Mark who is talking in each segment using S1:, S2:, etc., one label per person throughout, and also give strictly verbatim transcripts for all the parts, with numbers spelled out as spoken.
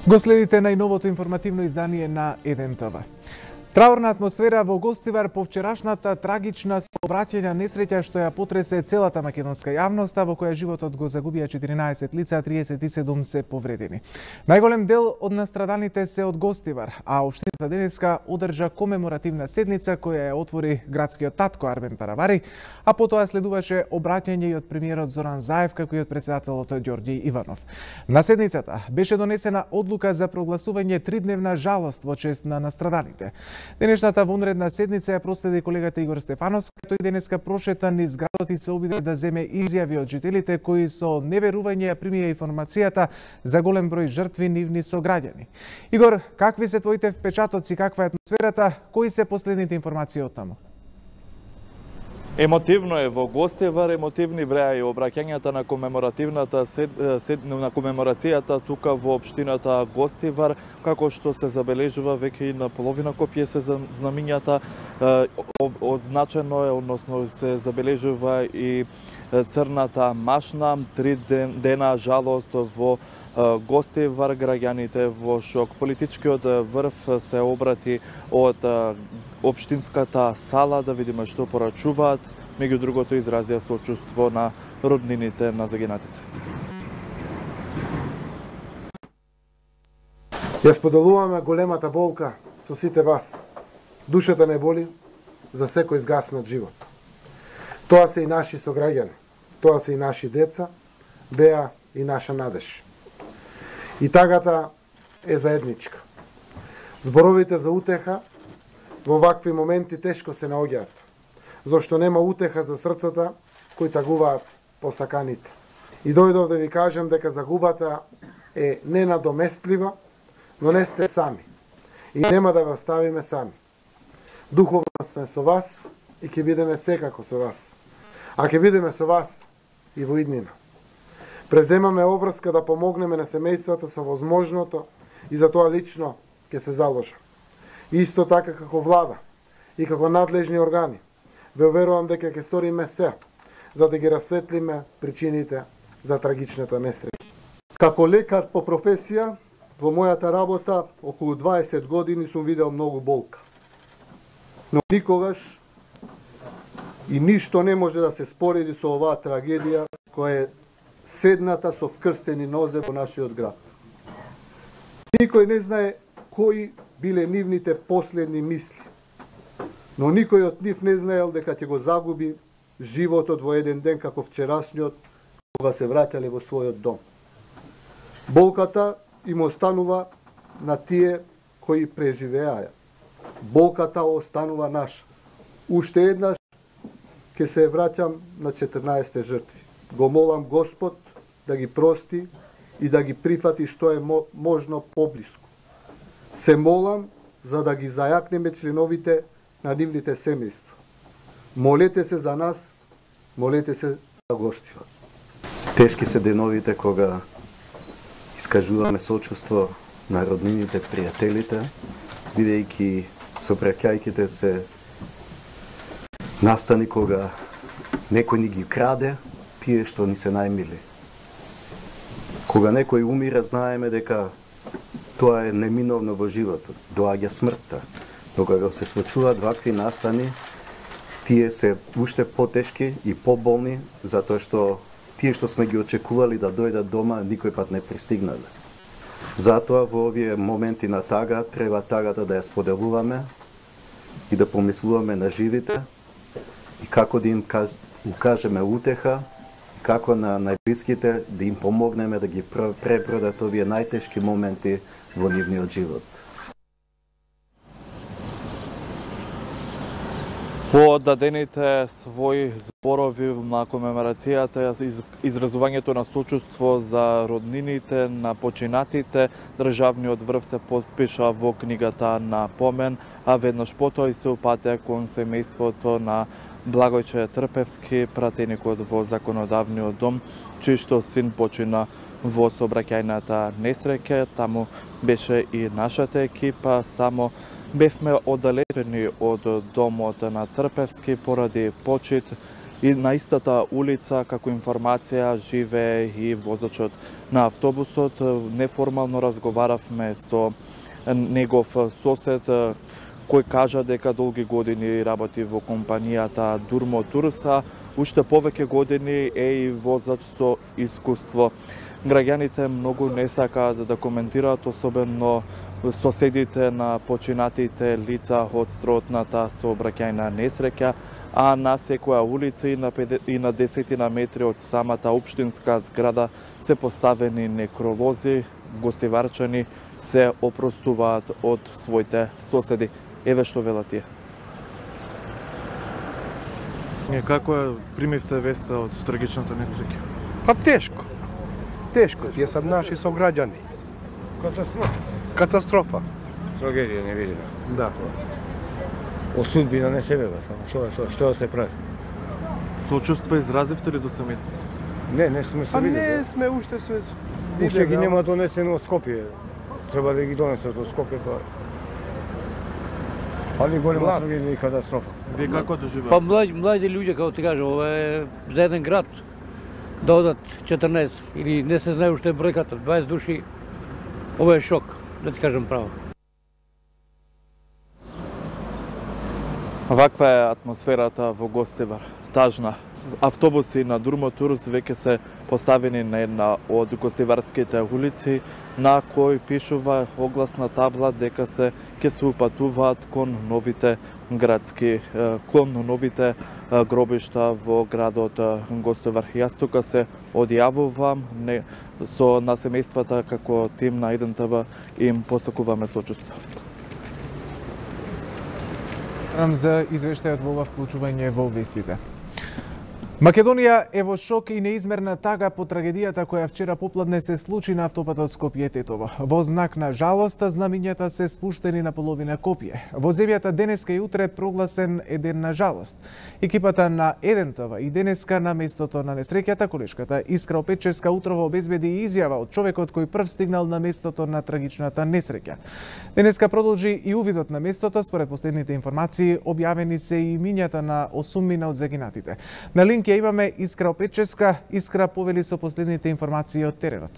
S1: Го следите најновото информативно издание на еден ТВ. Траурна атмосфера во Гостивар по вчерашната трагична сообраќајна несреќа што ја потресе целата македонска јавност, во која животот го загубија четиринаесет лица, триесет и седум се повредени. Најголем дел од настраданите се од Гостивар, а општината денеска одржа комеморативна седница која ја отвори градскиот татко Армен Таравари, а потоа следуваше обраќање и од премиерот Зоран Заев како и од председателот Ѓорѓи Иванов. На седницата беше донесена одлука за прогласување тридневна жалост во чест на настраданите. Денешната вонредна седница ја проследи колегата Игор Стефановски, тој денеска прошета низ градот и се обиде да земе изјави од жителите кои со неверување ја примија информацијата за голем број жртви нивни сограѓани. Игор, какви се твоите впечатоци, каква е атмосферата, кои се последните информации од таму?
S2: Емотивно е во Гостивар, емотивни бреа и обраќањата на комеморативната сед, сед, на комеморацијата тука во општината Гостивар, како што се забележува веќе и на половина копија се знамињата, одзначено е, односно се забележува и црната машна, три ден, дена жалост во Гостивар, граѓаните во шок. Политичкиот врв се обрати од општинската сала да видиме што порачуваат, меѓу другото изразија сочувство на роднините на загинатите.
S3: Ја споделуваме големата болка со сите вас. Душата не боли за секој згаснат живот. Тоа се и наши сограѓани, тоа се и наши деца, беа и наша надеж. И тагата е заедничка. Зборовите за утеха во вакви моменти тешко се наоѓаат, зашто нема утеха за срцата кои тагуваат посаканите. И дојдов да ви кажам дека загубата е ненадоместлива, но не сте сами. И нема да ве оставиме сами. Духовно сме со вас и ќе бидеме секако со вас. А ќе бидеме со вас и во иднина. Преземаме обврска да помогнеме на семејствата со возможното и за тоа лично ќе се заложам. Исто така како влада и како надлежни органи, ве уверувам дека ќе сториме се за да ги расветлиме причините за трагичната несреќа.
S4: Како лекар по професија, во мојата работа околу дваесет години сум видел многу болка. Но никогаш и ништо не може да се спореди со оваа трагедија која е седната со вкрстени нозе во нашиот град. Никој не знае кои биле нивните последни мисли, но никој од нив не знаел дека ќе го загуби животот во еден ден како вчерашниот, кога се враќале во својот дом. Болката им останува на тие кои преживеаја. Болката останува наша. Уште еднаш ќе се враќам на четрнаесетте жртви. Го молам Господ да ги прости и да ги прифати што е можно поблиску. Се молам за да ги зајакнеме членовите на нивните семејства. Молете се за нас, молете се за Гостивар.
S5: Тешки се деновите кога искажуваме сочувство на роднините, пријателите, бидејќи сопраќајките се настани кога некој ни ги краде тие што ни се најмили. Кога некој умира, знаеме дека тоа е неминовно во животот, доаѓа смртта. Но кога се случуваат вакви настани, тие се уште потешки и поболни, затоа што тие што сме ги очекували да дојдат дома, никој пат не пристигнале. Затоа во овие моменти на тага, треба тагата да ја споделуваме и да помислуваме на живите и како да им укажеме утеха, како на најблиските да им помогнеме да ги пребродат овие најтешки моменти во нивниот живот.
S2: По дадените своји зборови на комеморацијата, изразувањето на сочувство за роднините на починатите, државниот врв се потпиша во книгата на помен, а веднаш потоа и се упатеа кон семејството на Благојче Трпевски, пратеникот во законодавниот дом, чиј што син почина во сообраќајната несреќа. Таму беше и нашата екипа, само бевме оддалечени од домот на Трпевски поради почит и на истата улица како информација живее и возачот на автобусот. Неформално разговаравме со негов сосед кој кажа дека долги години работи во компанијата Durmo Tours, уште повеќе години е и возач со искуство. Граѓаните многу не сакаат да коментираат, особено соседите на починатите лица од строотната сообраќајна несреќа, а на секоја улица и на, и на десетина метри од самата општинска зграда се поставени некролози. Гостиварчани се опростуваат од своите соседи. Еве што велат тие. Како е примивте веста од трагичната несреќа?
S6: Па тешко. Тешко, тие се наши сограѓани.
S7: Катастрофа.
S6: Катастрофа.
S7: Трагедија невидена.
S6: Да.
S7: Од судбина не се велат, само што што да се прави.
S2: Сочувство изразивте ли до семејството?
S7: Не, не сме се
S6: Па
S7: видели.
S6: не сме уште се
S7: Уште ги нема донесено од Скопје. Треба да ги донесат од Скопје тоа. Али голема трагедија и катастрофа.
S2: Вие како доживеате?
S8: Па млади, млади луѓе, како ти кажа, ова е за еден град да одат четрнаесет или не се знае уште бројката, дваесет души. Ова е шок, да ти кажам право.
S2: Ваква е атмосферата во Гостивар. Тажна. Автобуси на Durmo Tours веќе се поставени на една од гостиварските улици, на кој пишува огласна табла дека се ќе се упатуваат кон новите градски, кон новите гробишта во градот Гостивар. Јас тука се одјавувам не, со на семејствата како тим на еден те ве им посакуваме сочувство.
S1: За извештајот во ова вклучување во вестите. Македонија е во шок и неизмерна тага по трагедијата која вчера попладне се случи на автопатот Скопје-Тетово. Во знак на жалост, знамињата се спуштени на половина Копје. Во земјата денеска и утре прогласен е ден на жалост. Екипата на еден те ве и денеска на местото на несреќата, колешката Искра Опеческа утрово обезбеди изјава од човекот кој прв стигнал на местото на трагичната несреќа. Денеска продолжи и увидот на местото. Според последните информации, објавени се и имињата на осумина од загинатите. На линк ја имаме Искра Опеческа. Искра, повели со последните информации од теренот.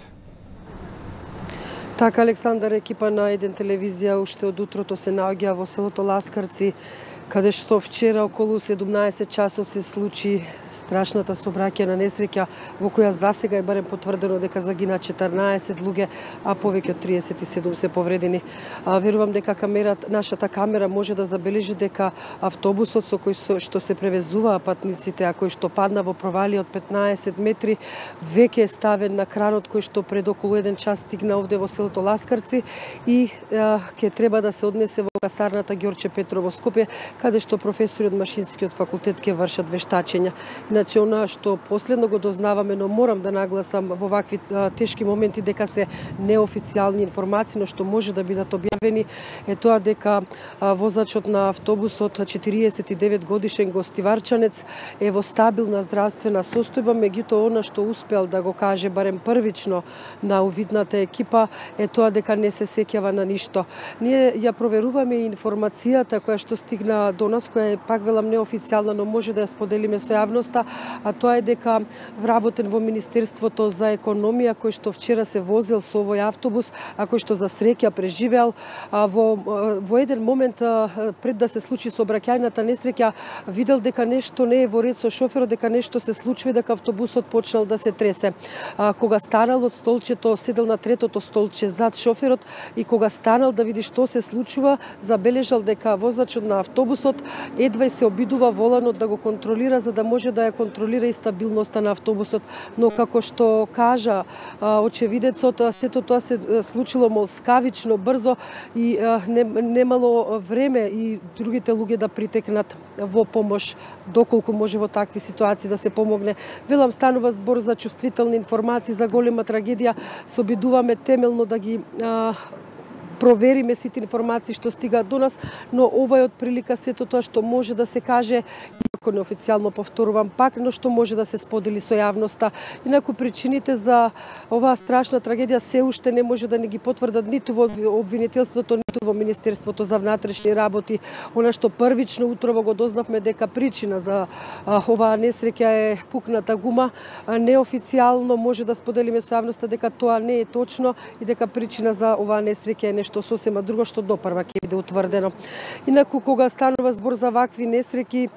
S9: Така, Александар, екипа на еден телевизија уште од утрото се наоѓа во селото Ласкарци, каде што вчера околу седумнаесет часот се случи страшната сообраќајна несреќа во која засега е барем потврдено дека загина четрнаесет луѓе, а повеќе од триесет и седум се повредени. А, верувам дека камерата, нашата камера може да забележи дека автобусот со кој со, што се превезуваа патниците, а кој што падна во провалија од петнаесет метри, веќе е ставен на кранот кој што пред околу еден час стигна овде во селото Ласкарци и а, ќе треба да се однесе во касарната Ѓорче Петрово Скопје, каде што професори од Машинскиот факултет ќе вршат вештачења. Иначе, она што последно го дознаваме, но морам да нагласам во вакви а, тешки моменти дека се неофицијални информации, но што може да бидат објавени, е тоа дека а, возачот на автобусот, четириесет и девет годишен гостиварчанец, е во стабилна здравствена состојба, меѓутоа она што успел да го каже барем првично на увидната екипа е тоа дека не се сеќава на ништо. Ние ја проверуваме информацијата која што стигна до нас, која е, пак велам, неофицијална, но може да ја споделиме со јавноста, а тоа е дека вработен во Министерството за економија, кој што вчера се возел со овој автобус, а кој што за среќа преживеал, а, во, во еден момент а, пред да се случи сообраќајната несреќа, видел дека нешто не е во ред со шоферот, дека нешто се случува, дека автобусот почнал да се тресе. А, кога станал од столчето, седел на третото столче зад шоферот и кога станал да види што се случува, забележал дека возачот на автобусот едва се обидува воланот да го контролира за да може да ја контролира и стабилноста на автобусот, но како што кажа а, очевидецот, сето тоа се случило молскавично, брзо и а, не, немало време и другите луѓе да притекнат во помош, доколку може во такви ситуации да се помогне. Велам, станува збор за чувствителни информации, за голема трагедија, се обидуваме темелно да ги а, провериме сите информации што стигаат до нас, но ова е од прилика сето тоа што може да се каже, иако неофицијално повторувам пак, но што може да се сподели со јавноста. Инаку причините за оваа страшна трагедија се уште не може да не ги потврдат ниту во обвинителството, ниту работи во Министерството за внатрешни работи. Она што првично утрово го дознавме дека причина за а, оваа несреќа е пукната гума. А, неофицијално може да споделиме со јавноста дека тоа не е точно и дека причина за оваа несреќа е нешто сосема друго што допрва ќе биде утврдено. Инаку кога станува збор за вакви несреќи,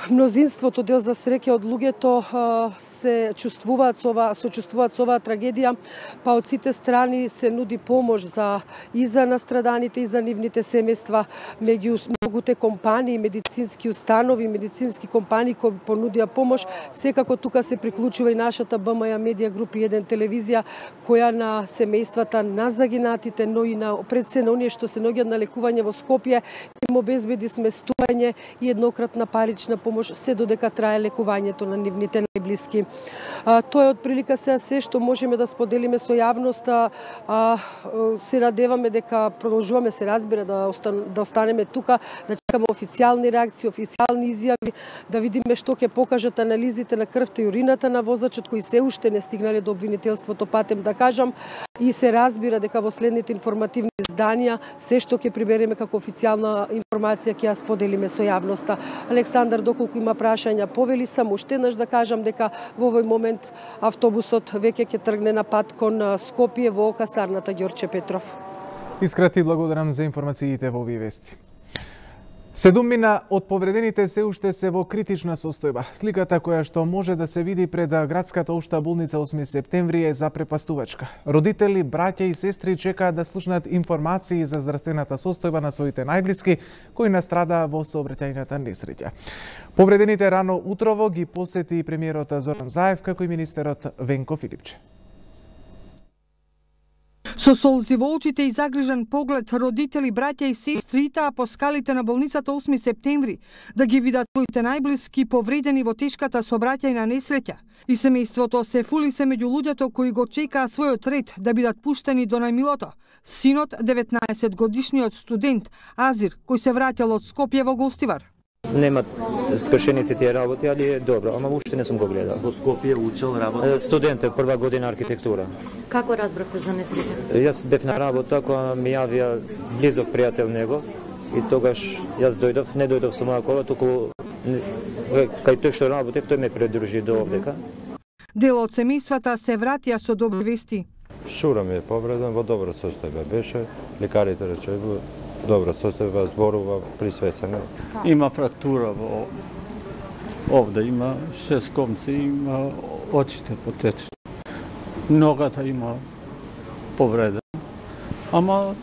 S9: мнозинството, дел за среќа од луѓето се чувствуваат со ова, сочувствуваат со оваа трагедија, па од сите страни се нуди помош за и за настраданите и за нивните семејства, меѓу многуте компании, медицински установи, медицински компании кои понудија помош. Секако тука се приклучува и нашата Б М Ј Медија Груп и еден телевизија која на семејствата на загинатите, но и на пред се на оние што се наоѓаат на лекување во Скопје, им обезбеди сместување и еднократна парична помош се додека трае лекувањето на нивните најблиски. А, тоа е од прилика сега се што можеме да споделиме со јавноста. А, се надеваме дека продолжуваме, се разбира, да, остан, да останеме тука, да чекаме официјални реакции, официјални изјави, да видиме што ќе покажат анализите на крвта и урината на возачот кои се уште не стигнале до обвинителството, патем да кажам, и се разбира дека во следните информативни изданија се што ќе прибереме како официјална информација ќе ја споделиме со јавноста. Александар, доколку има прашања, повели само уште еднаш да кажам дека во овој момент автобусот веќе ќе тргне на пат кон Скопје во касарната Ѓорче Петров.
S1: Искрати благодарам за информациите во овие вести. Седумина од повредените се уште се во критична состојба. Сликата која што може да се види пред градската општа болница осми септември е запрепастувачка. Родители, браќа и сестри чекаат да слушнат информации за здравствената состојба на своите најблиски кои настрадаа во сообраќајната несреќа. Повредените рано утрово ги посети и премиерот Зоран Заев како и министерот Венко Филипче.
S10: Со солзи во очите и загрижен поглед, родители, браќа и сестри итаа по скалите на болницата осми септември да ги видат своите најблиски повредени во тешката сообраќајна несреќа. И семејството се фули се меѓу луѓето кои го чекаа својот ред да бидат пуштени до најмилото. Синот, деветнаесет годишниот студент Азир, кој се враќал од Скопје во Гостивар.
S11: Нема скршеници тие работи, али е добро, ама уште не сум го гледал.
S12: Во Скопје учел работа?
S11: Студент е, прва година архитектура.
S12: Како разбравте за несреќа?
S11: Јас бев на работа кога ми јавија близок пријател него и тогаш јас дојдов, не дојдов со моја кола, туку кај тој што работев, тој ме придружи до овдека.
S10: Дел од семејствата се вратија со добри вести.
S13: Шура ми е повреден, во добро состојба беше, лекарите рече во добро состојба, зборува присвесена.
S14: Има фрактура во овде, има шест комци, има очите потечени. Ногата има повредена. Ама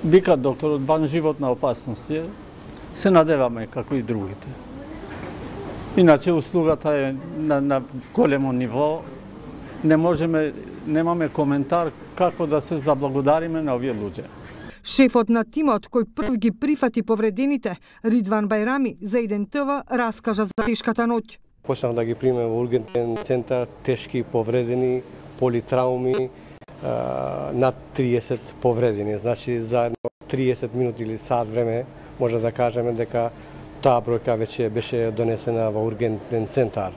S14: вика докторот, ван животна опасност е, се надеваме како и другите. Иначе услугата е на, на големо ниво. Не можеме, немаме коментар како да се заблагодариме на овие луѓе.
S10: Шефот на тимот кој прв ги прифати повредените, Ридван Бајрами, за еден Т В раскажа за тешката ноќ.
S15: Почнав да ги примем во ургентен центар, тешки повредени, политрауми, над триесет повредени. Значи за триесет минути или сат време може да кажеме дека таа бројка веќе беше донесена во ургентен центар.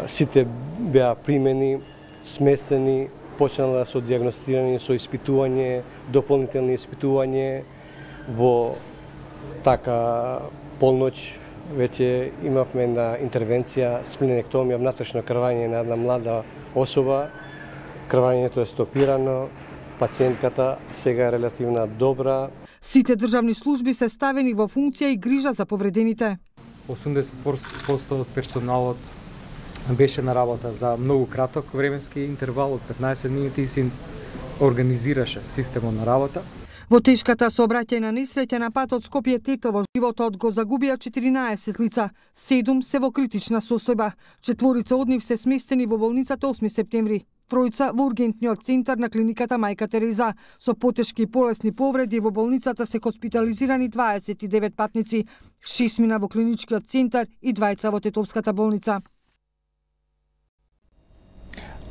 S15: Сите беа примени, сместени, почнала со диагностирање, со испитување, дополнителни испитување. Во така полноќ веќе имавме една интервенција, спленектомија, внатрешно крвање на една млада особа. Крвањето е стопирано, пациентката сега е релативно добра.
S10: Сите државни служби се ставени во функција и грижа за повредените.
S16: осумдесет проценти од персоналот беше на работа за многу краток временски интервал од петнаесет минути и се организираше системот на работа.
S10: Во тешката сообраќајна несреќа на патот Скопје-Тетово животот го загубија четиринаесет лица, седум се во критична состојба. Четворица од нив се сместени во болницата осми септември. Тројца во ургентниот центар на клиниката Мајка Тереза. Со потешки и полесни повреди во болницата се хоспитализирани дваесет и девет патници, шест мина во клиничкиот центар и двајца во Тетовската болница.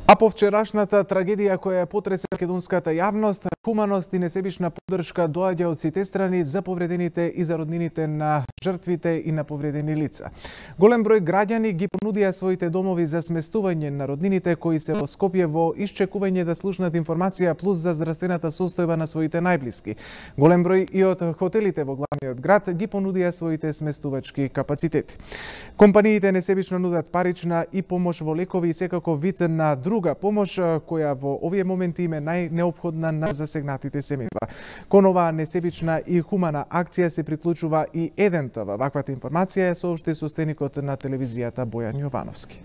S1: А по вчерашната трагедија која ја потресе македонската јавност, хуманост и несебична поддршка доаѓа од сите страни за повредените и за роднините на жртвите и на повредени лица. Голем број граѓани ги понудија своите домови за сместување на роднините кои се во Скопје во исчекување да слушнат информација плюс за здравствената состојба на своите најблиски. Голем број и од хотелите во главниот град ги понудија своите сместувачки капацитети. Компаниите несебично нудат парична и помош во лекови и секако вид на друг друга помош која во овие моменти им е најнеопходна на засегнатите семејства. Кон оваа несебична и хумана акција се приклучува и еден ТВ. Ваквата информација ја соопшти собственикот на телевизијата Бојан Јовановски.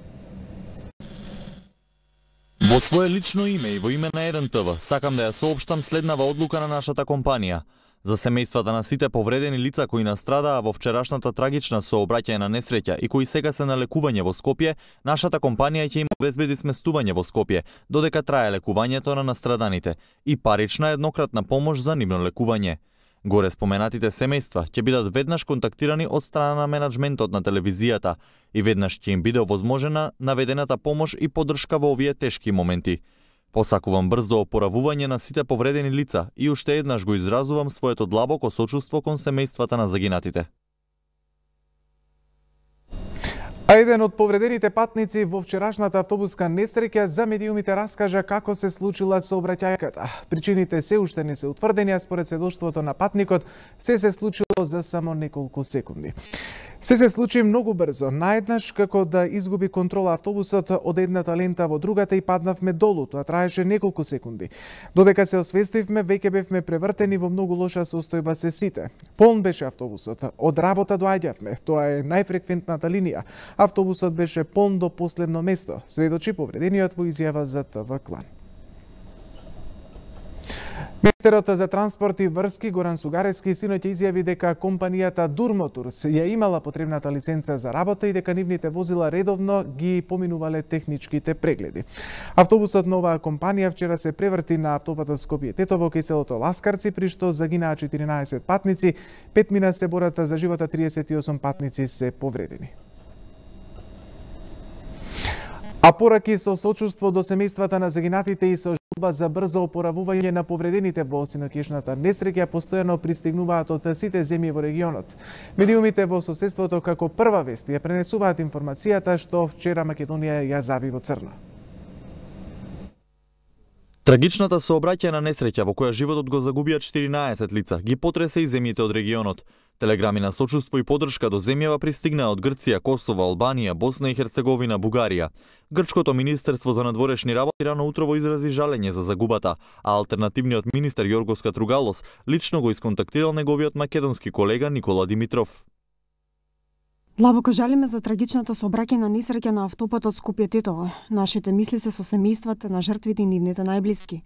S17: Во свое лично име и во име на еден ТВ сакам да ја соопштам следнава одлука на нашата компанија. За семејствата на сите повредени лица кои настрадаа во вчерашната трагична сообраќајна несреќа и кои сега се на лекување во Скопје, нашата компанија ќе им обезбеди сместување во Скопје, додека трае лекувањето на настраданите и парична еднократна помош за нивно лекување. Горе споменатите семејства ќе бидат веднаш контактирани од страна на менаџментот на телевизијата и веднаш ќе им биде овозможена наведената помош и поддршка во овие тешки моменти. Посакувам брзо опоравување на сите повредени лица и уште еднаш го изразувам своето длабоко сочувство кон семејствата на загинатите.
S1: А еден од повредените патници во вчерашната автобуска несреќа за медиумите раскажа како се случила сообраќајката. Причините се уште не се утврдени, а според сведоштвото на патникот се се случило за само неколку секунди. Се се случи многу брзо, наеднаш како да изгуби контрола автобусот од едната лента во другата и паднавме долу, тоа траеше неколку секунди. Додека се освестивме, веќе бевме превртени во многу лоша состојба се сите. Полн беше автобусот, од работа доаѓавме, тоа е најфреквентната линија. Автобусот беше полн до последно место, сведочи повредениот во изјава за ТВ Клан. Министерот за транспорт и врски Горан Сугаревски синоќ изјави дека компанијата Durmotours ја имала потребната лиценца за работа и дека нивните возила редовно ги поминувале техничките прегледи. Автобусот на оваа компанија вчера се преврти на автопатот Скопје-Тетово кај селото Ласкарци, при што загинаа четиринаесет патници, пет мина се борат за живота, триесет и осум патници се повредени. А пораки со сочувство до семејствата на загинатите и со желба за брзо опоравување на повредените во синокешната несреќа постојано пристигнуваат од сите земји во регионот. Медиумите во соседството како прва вест ја пренесуваат информацијата што вчера Македонија ја зави во црно.
S17: Трагичната сообраќајна несреќа во која животот го загубија четиринаесет лица ги потресе и земјите од регионот. Телеграми на сочувство и поддршка до земјава пристигнаа од Грција, Косово, Албанија, Босна и Херцеговина, Бугарија. Грчкото министерство за надворешни работи рано утрово изрази жалење за загубата, а алтернативниот министер Јоргос Катругалос лично го исконтактирал неговиот македонски колега Никола Димитров.
S18: Длабоко жалиме за трагичната сообраќајна несреќа на автопатот Скопје-Тетово. Нашите мисли се со семејствата на жртвите и нивните најблиски.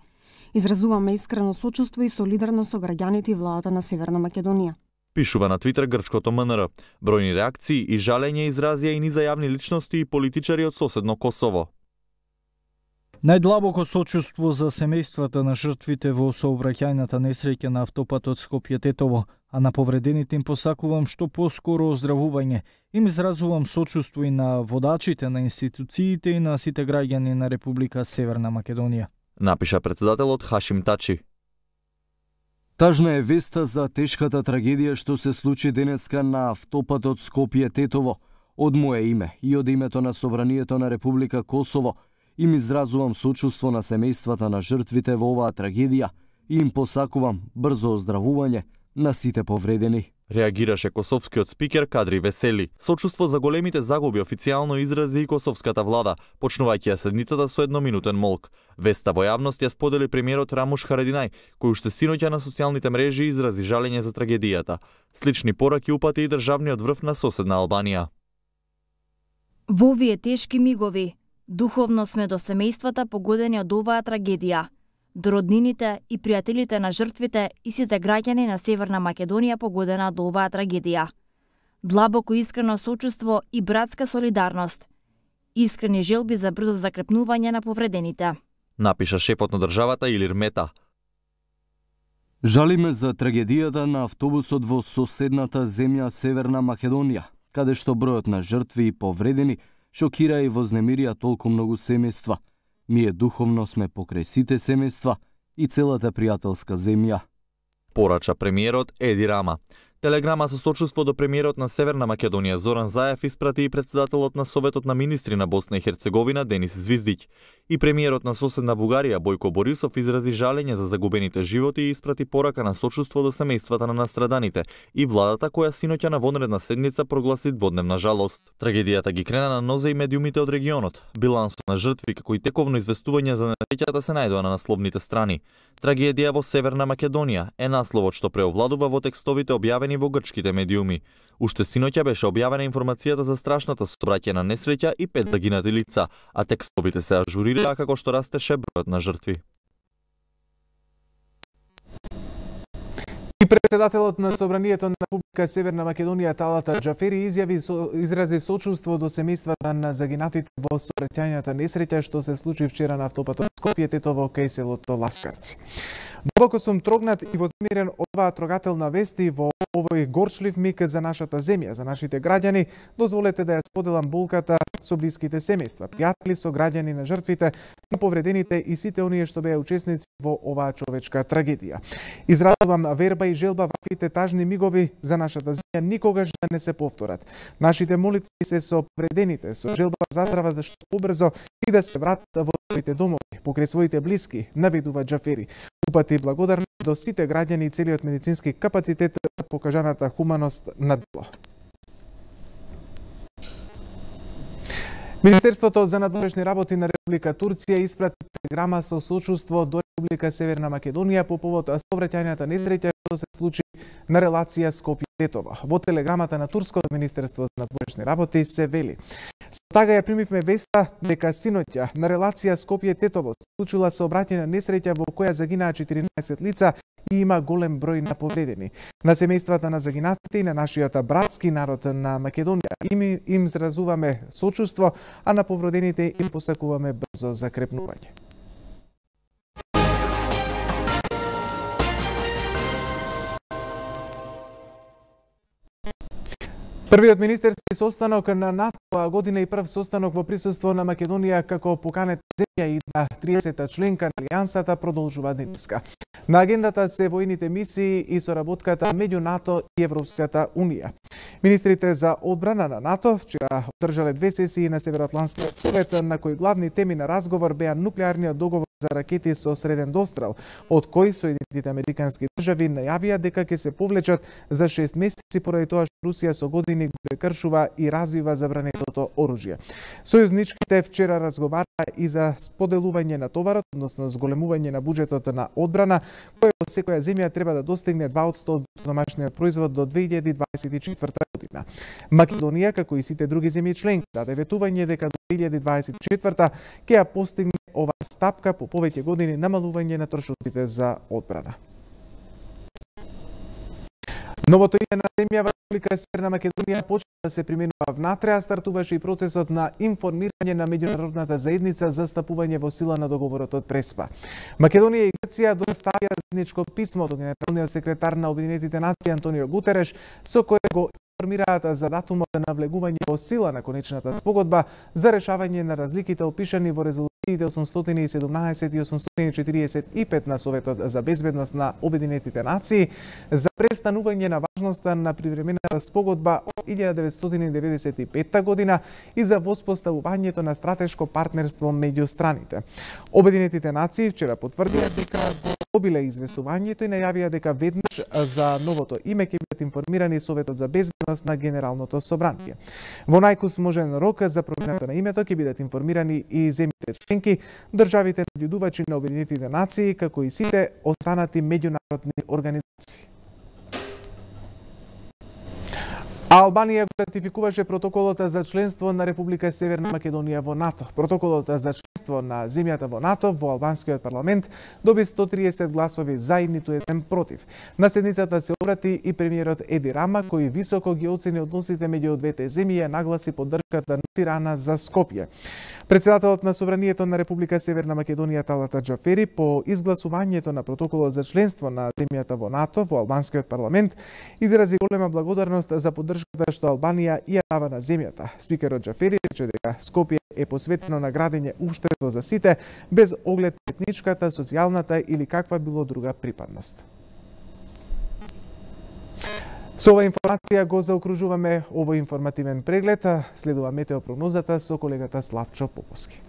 S18: Изразуваме искрено сочувство и солидарност со граѓаните и владата на Северна Македонија.
S17: Пишува на Твитер грчкото МНР. Бројни реакции и жалење изразија и низа јавни личности и политичари од соседно Косово.
S19: Најдлабоко сочувство за семејствата на жртвите во сообраќајната несреќа на автопатот Скопје-Тетово, а на повредените им посакувам што поскоро оздравување. Им изразувам сочувство и на водачите на институциите и на сите граѓани на Република Северна Македонија.
S17: Напиша председателот Хашим Тачи.
S20: Тажна е веста за тешката трагедија што се случи денеска на автопатот Скопје-Тетово. Од мое име и од името на Собранието на Република Косово им изразувам сочувство на семејствата на жртвите во оваа трагедија и им посакувам брзо оздравување на сите повредени.
S17: Реагираше косовскиот спикер Кадри Весели. Сочувство за големите загуби официјално изрази и косовската влада, почнувајќи ја седницата со едноминутен молк. Веста во јавност ја сподели премиерот Рамуш Харадинај, кој уште синоќа на социјалните мрежи изрази жалење за трагедијата. Слични пораки упати и државниот врв на соседна Албанија.
S21: Во овие тешки мигови, духовно сме до семејствата погодени од оваа трагедија, до роднините и пријателите на жртвите и сите граѓани на Северна Македонија погодена од оваа трагедија. Длабоко искрено сочувство и братска солидарност. Искрени желби за брзо закрепнување на повредените.
S17: Напиша шефот на државата Илир Мета.
S20: Жалиме за трагедијата на автобусот во соседната земја Северна Македонија, каде што бројот на жртви и повредени шокира и вознемирија толку многу семејства. Ние духовно сме покрај сите семејства и целата пријателска земја.
S17: Порача премиерот Еди Рама. Телеграма со сочувство до премиерот на Северна Македонија Зоран Заев испрати и председателот на Советот на министри на Босна и Херцеговина Денис Звиздиќ. И премиерот на соседна Бугарија Бојко Борисов изрази жалење за загубените животи и испрати порака на сочувство до семејствата на настраданите и владата која синоќа на вонредна седница прогласи дводневна жалост. Трагедијата ги крена на нозе и медиумите од регионот. Билансот на жртви како и тековно известување за несреќата се најдоа на насловните страни. Трагедија во Северна Македонија е насловот што преовладува во текстовите објавени во грчките медиуми. Уште синоќа беше објавена информацијата за страшната сообраќајна несреќа и пет загинати лица, а текстовите се ажурираа како што растеше бројот на жртви.
S1: И председателот на Собранието на Република Северна Македонија Талата Џафери изјави со, изрази сочувство до семејствата на загинатите во сообраќајната несреќа што се случи вчера на автопатот Скопје Тетово кај селото Ласкарци. Дубоко сум трогнат и вознемирен од оваа трогателна вест и во овој горчлив миг за нашата земја, за нашите граѓани. Дозволете да ја споделам болката со блиските семејства, пријатели, со граѓани на жртвите, на повредените и сите оние што беа учесници во оваа човечка трагедија. Изразувам верба и желба ваквите тажни мигови за нашата земја никогаш да не се повторат. Нашите молитви се со повредените, со желба за здрава да што побрзо и да се вратат во своите домови, покрај своите блиски, наведува Џафери. Упати благодарност до сите граѓани и целиот медицински капацитет за покажаната хуманост на дело. Министерството за надворешни работи на Република Турција испрати телеграма со сочувство до Република Северна Македонија по повод сообраќајната несреќа што се случи на релација Скопје-Тетово. Во телеграмата на Турското Министерство за надворешни работи се вели: Со тага ја примивме веста дека синоќа на релација Скопје-Тетово се случила сообраќајна несреќа во која загинаа четиринаесет лица и има голем број на повредени. На семејствата на загинатите и на нашиот братски народ на Македонија им им изразуваме сочувство, а на повредените им посакуваме брзо закрепнување. Првиот министерски состанок на НАТО оваа година и прв состанок во присуство на Македонија како поканета земја и на триесетта членка на Алијансата продолжува денеска. На агендата се војните мисии и соработката меѓу НАТО и Европската Унија. Министрите за одбрана на НАТО вчера одржале две сесии на Североатлантскиот совет на кои главни теми на разговор беа нуклеарниот договор за ракети со среден дострел, од кои Соединетите американски држави најавија дека ќе се повлечат за шест месеци поради тоа што Русија со години го прекршува и развива забранетото оружје. Сојузничките вчера разговараа и за споделување на товарот, односно зголемување на буџетот на одбрана, кој во секоја земја треба да достигне два одсто од домашниот производ до две илјади дваесет и четврта година. Македонија, како и сите други земји членки, даде ветување дека до две илјади дваесет и четврта ќе ја постигне оваа стапка по повеќе години намалување на трошоците за одбрана. Новото име на земја во Република Северна Македонија почна да се применува внатре, а стартуваше и процесот на информирање на меѓународната заедница за стапување во сила на договорот од Преспа. Македонија и Грција доставија заедничко писмо до генералниот секретар на Обединетите нации Антонио Гутереш, со кое го информираат за датумот на влегување во сила на конечната спогодба за решавање на разликите опишани во резолуциите осумстотини и седумнаесет и осумстотини и четириесет и пет на Советот за безбедност на Обединетите нации за престанување на важноста на привремената спогодба од илјада деветстотини деветдесет и петта година и за воспоставувањето на стратешко партнерство меѓу страните. Обединетите нации вчера потврдија дека го одобиле известувањето и најавија дека веднаш за новото име ќе бидат информирани Советот за безбедност на Генералното собрание. Во најкусможен рок за промената на името ќе бидат информирани и земјите членки, државите наблюдувачи на Обединетите нации, како и сите останати меѓународни организации. Албанија го ратификуваше протоколот за членство на Република Северна Македонија во НАТО. Протоколот за членство на земјата во НАТО во албанскиот парламент доби сто триесет гласови за и ниту еден против. На седницата се обрати и премиерот Еди Рама, кој високо ги оцени односите меѓу двете земји и нагласи поддршката на Тирана за Скопје. Председателот на Собранието на Република Северна Македонија Талата Џафери по изгласувањето на протоколот за членство на земјата во НАТО во албанскиот парламент изрази голема благодарност за поддршката поддршката што Албанија ја дава на земјата. Спикерот Џафери рече дека Скопје е посветено на градење општество за сите, без оглед на етничката, социјалната или каква било друга припадност. Со ова информација го заокружуваме овој информативен преглед, следува метеопрогнозата со колегата Славчо Поповски.